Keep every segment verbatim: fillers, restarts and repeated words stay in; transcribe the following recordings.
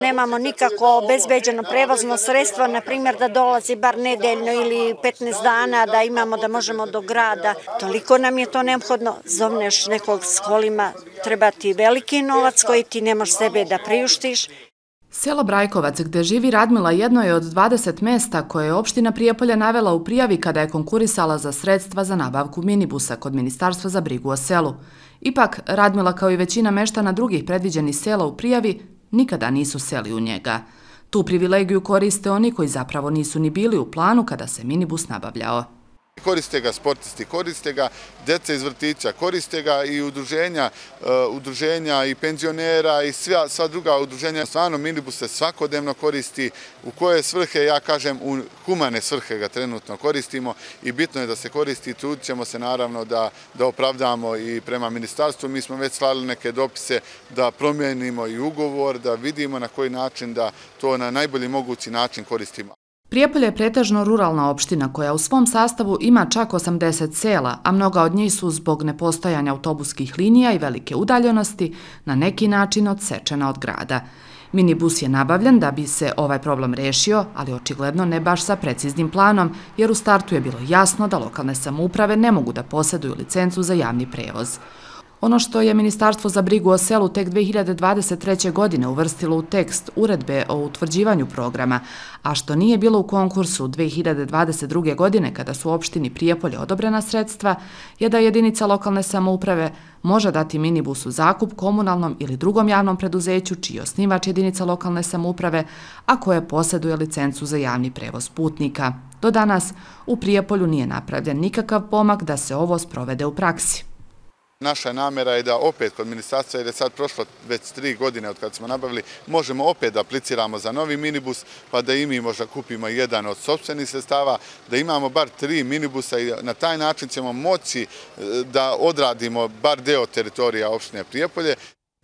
Nemamo nikako obezbeđeno prevozno sredstvo, na primjer da dolazi bar nedeljno ili petnaest dana, da imamo da možemo do grada. Toliko nam je to neophodno, zovneš nekog s kolima, treba ti veliki novac koji ti ne možeš sebe da priuštiš. Selo Brajkovac, gde živi Radmila, jedno je od dvadeset mesta koje je opština Prijepolje navela u prijavi kada je konkurisala za sredstva za nabavku minibusa kod Ministarstva za brigu o selu. Ipak, Radmila kao i većina meštana drugih predviđenih sela u prijavi nikada nisu seli u njega. Tu privilegiju koriste oni koji zapravo nisu ni bili u planu kada se minibus nabavljao. Koriste ga sportisti, koriste ga deca iz vrtića, koriste ga i udruženja, udruženja i penzionera i sva, sva druga udruženja. Stvarno minibus se svakodnevno koristi. U koje svrhe, ja kažem, u humane svrhe ga trenutno koristimo i bitno je da se koristi i trudit ćemo se naravno da, da opravdamo i prema ministarstvu. Mi smo već slali neke dopise da promijenimo i ugovor, da vidimo na koji način da to na najbolji mogući način koristimo. Prijepolje je pretežno ruralna opština koja u svom sastavu ima čak osamdeset sela, a mnoga od njih su zbog nepostojanja autobuskih linija i velike udaljenosti na neki način odsečena od grada. Minibus je nabavljen da bi se ovaj problem rešio, ali očigledno ne baš sa preciznim planom, jer u startu je bilo jasno da lokalne samouprave ne mogu da posjeduju licencu za javni prevoz. Ono što je Ministarstvo za brigu o selu tek dve hiljade dvadeset treće. godine uvrstilo u tekst uredbe o utvrđivanju programa, a što nije bilo u konkursu dve hiljade dvadeset druge. godine kada su opštini Prijepolje odobrena sredstva, je da jedinica lokalne samouprave može dati minibus u zakup komunalnom ili drugom javnom preduzeću čiji je osnivač jedinica lokalne samouprave, a koje posjeduje licencu za javni prevoz putnika. Do danas u Prijepolju nije napravljen nikakav pomak da se ovo sprovede u praksi. Naša namjera je da opet kod ministarstva, jer je sad prošlo već tri godine od kada smo nabavili, možemo opet da apliciramo za novi minibus, pa da i mi možda kupimo jedan od sopstvenih sredstava, da imamo bar tri minibusa i na taj način ćemo moći da odradimo bar deo teritorija opštine Prijepolje.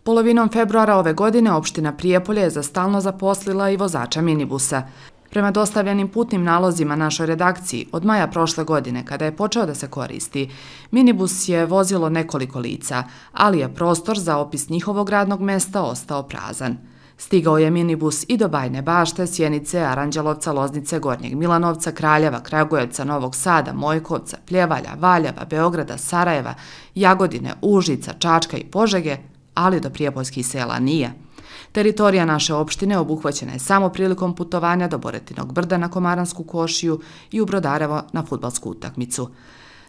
Polovinom februara ove godine opština Prijepolje je za stalno zaposlila i vozača minibusa. Prema dostavljenim putnim nalozima našoj redakciji, od maja prošle godine, kada je počeo da se koristi, minibus je vozilo nekoliko lica, ali je prostor za opis njihovog radnog mesta ostao prazan. Stigao je minibus i do Bajne Bašte, Sjenice, Aranđelovca, Loznice, Gornjeg Milanovca, Kraljeva, Kragujevca, Novog Sada, Mojkovca, Pljevalja, Valjeva, Beograda, Sarajeva, Jagodine, Užica, Čačka i Požege, ali do prijepoljskih sela nije. Teritorija naše opštine obuhvaćena je samo prilikom putovanja do Boretinog brda na Komaransku košiju i u Brodarevo na fudbalsku utakmicu.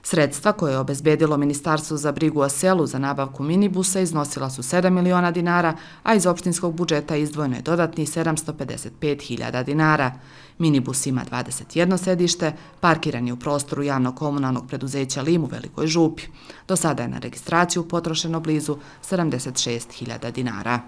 Sredstva koje je obezbedilo Ministarstvo za brigu o selu za nabavku minibusa iznosila su sedam miliona dinara, a iz opštinskog budžeta izdvojeno je dodatnih sedamsto pedeset pet hiljada dinara. Minibus ima dvadeset jedno sedište, parkiran je u prostoru javno-komunalnog preduzeća Lim u Velikoj Župi. Do sada je na registraciju potrošeno blizu sedamdeset šest hiljada dinara.